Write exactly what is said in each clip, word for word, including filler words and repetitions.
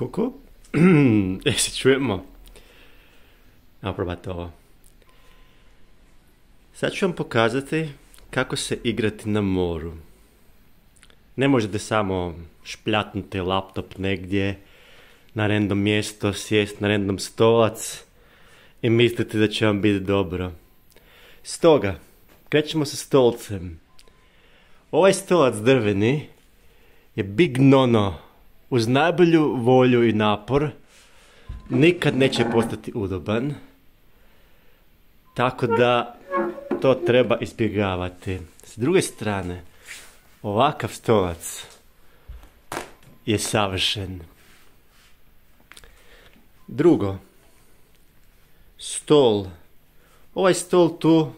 Koko? E, se čujemo? Evo probajte ovo. Sad ću vam pokazati kako se igrati na moru. Ne možete samo špljatnuti laptop negdje na random mjesto, sjest na random stolac i misliti da će vam biti dobro. Stoga, krećemo sa stolcem. Ovaj stolac drveni je big no-no. Uz najbolju volju i napor nikad neće postati udoban. Tako da to treba izbjegavati. S druge strane, ovakav stolac je savršen. Drugo, stol. Ovaj stol tu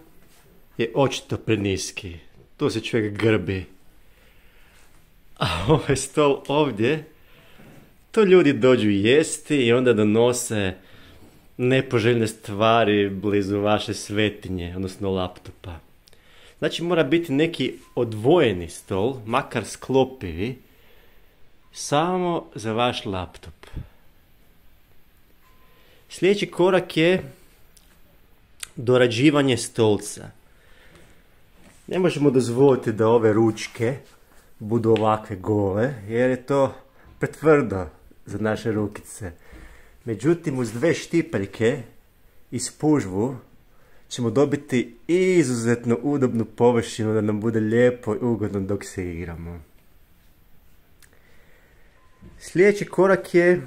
je očito preniski. Tu se čovjek grbi. A ovaj stol ovdje, to ljudi dođu jesti i onda donose nepoželjne stvari blizu vaše svetinje, odnosno laptopa. Znači mora biti neki odvojeni stol, makar sklopivi, samo za vaš laptop. Sljedeći korak je dorađivanje stolca. Ne možemo dozvoliti da ove ručke budu ovakve gole, jer je to pretvrdo za naše rukice. Međutim, uz dve štipeljke i spužvu ćemo dobiti izuzetno udobnu površinu da nam bude lijepo i ugodno dok se igramo. Sljedeći korak je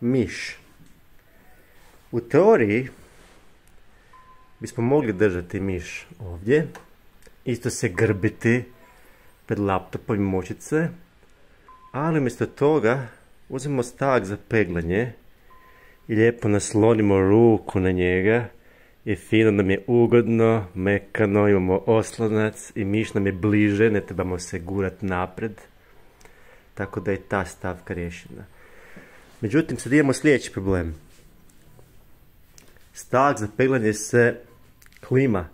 miš. U teoriji bismo mogli držati miš ovdje, isto se grbiti pred laptopom i močice, ali umjesto toga uzmemo stak za peglanje i lijepo naslonimo ruku na njega i fino nam je ugodno, mekano, imamo oslonac i miš nam je bliže, ne trebamo se gurati napred, tako da je ta stavka riješena. Međutim, sad imamo sljedeći problem. Stak za peglanje se klima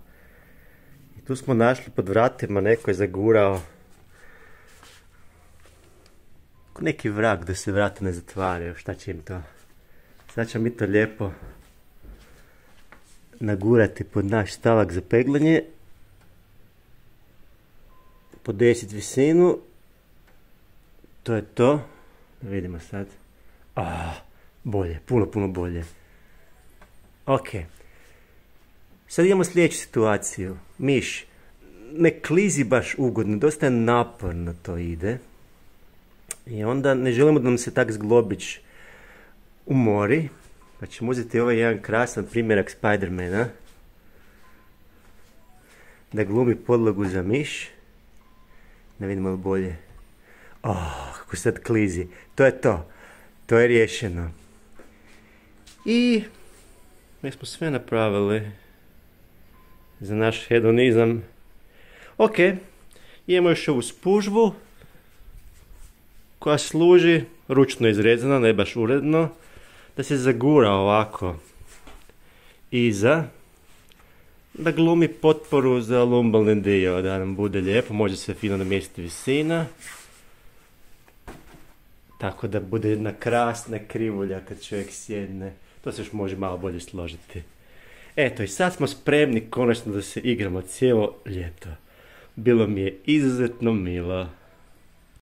i tu smo našli pod vratima, neko je zagurao neki vrag da se vrata ne zatvaraju, šta će im to? Sad ćemo mi to lijepo nagurati pod naš stavak za peglanje, podesiti visinu, to je to, da vidimo sad, ah, bolje, puno puno bolje. Ok, sad imamo sljedeću situaciju, miš, ne klizi baš ugodno, dosta je naporno to ide. I onda ne želimo da nam se tak zglobić umori, pa ćemo uzeti ovaj jedan krasan primjerak Spidermana, da glumi podlogu za miš, da vidimo li bolje. Oh, kako sad klizi, to je to, to je riješeno. I mi smo sve napravili za naš hedonizam. Ok, imamo još ovu spužvu koja služi, ručno izrezana, ne baš uredno, da se zagura ovako iza, da glumi potporu za lumbalni dio, da nam bude lijepo, može se fino namjestiti visina, tako da bude jedna krasna krivulja kad čovjek sjedne, to se još može malo bolje složiti. Eto, i sad smo spremni konačno da se igramo cijelo ljeto. Bilo mi je izuzetno milo.